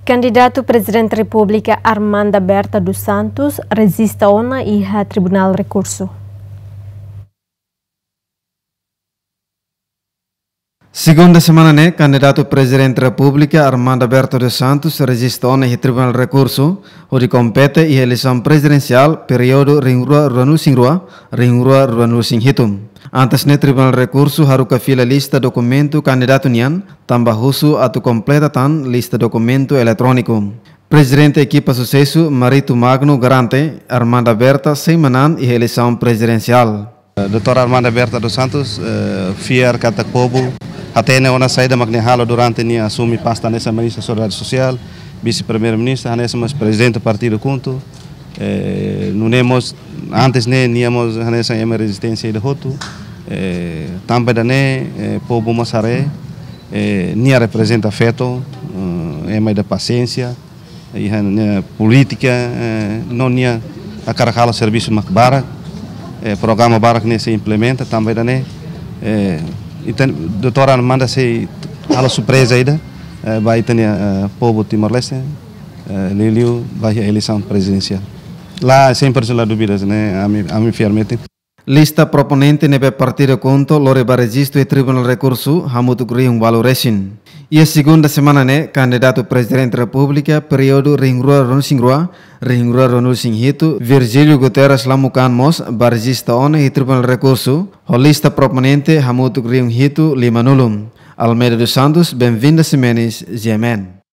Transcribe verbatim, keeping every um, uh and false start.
Kandidatu Prezidente Repúblika Armanda Berta dos Santos rejista ona iha Tribunál Rekursu. Segunda semana ne'e, kandidatu Prezidente Repúblika Armanda Berta dos Santos rejista ona iha Tribunál Rekursu, hodi kompete iha eleisaun prezidensiál períodu rihun rua ruanulu-resin-rua, rihun rua ruanulu-resin-hitu. Antes ne'e, Tribunál Rekursu haruka fila lista dokumentu kandidatu nian, tanba husu atu kompleta tan lista dokumentu eletróniku. Prezidente ekipa susesu Marito Magno garante Armanda Berta sei manán iha eleisaun prezidensiál. Doutora Armanda Berta dos Santos, eh, fiar katak povu hatene ona saida mak nia halo durante nia asume pasta hanesan Ministra Solidariedade Sosiál, Vise-Primeiru-Ministru, hanesan mós Prezidente Partidu KHUNTO. Eh, nune'e mós, antes ne'e, nia mós hanesan ema rezisténsia ida hotu. Eh, tanba ida-ne'e, eh, povu mós haree, eh, nia reprezenta feto, eh, ema ida pasiénsia, iha nia polítika, eh, no nia hakarak halo servisu mak barak, eh, programa barak ne'e sei implementa, tanba ida-ne'e, eh, ita, doutora Armanda sei halo surpreza ida, eh, ba ita-nia, eh, povu Timor-Leste, eh, liuliu ba iha eleisaun prezidensiál. La, sempre la dúvidas, ne'e, ami, ami fiar metin. Lista proponente ne'ebé Partidu KHUNTO lori ba rejistu iha Tribunál Rekursu hamutuk rihun ualu resin. Iha segunda semana ne'e, kandidatu Prezidente Repúblika períodu rihun rua ruanulu-resin-rua, rihun rua ruanulu-resin-hitu, Virgílio Guterres Lamukan mós ba rejista ona iha Tribunál Rekursu, ho lista proponente hamutuk rihun hitu limanulu. Almeida dos Santos, Benvinda Ximenes, G M N.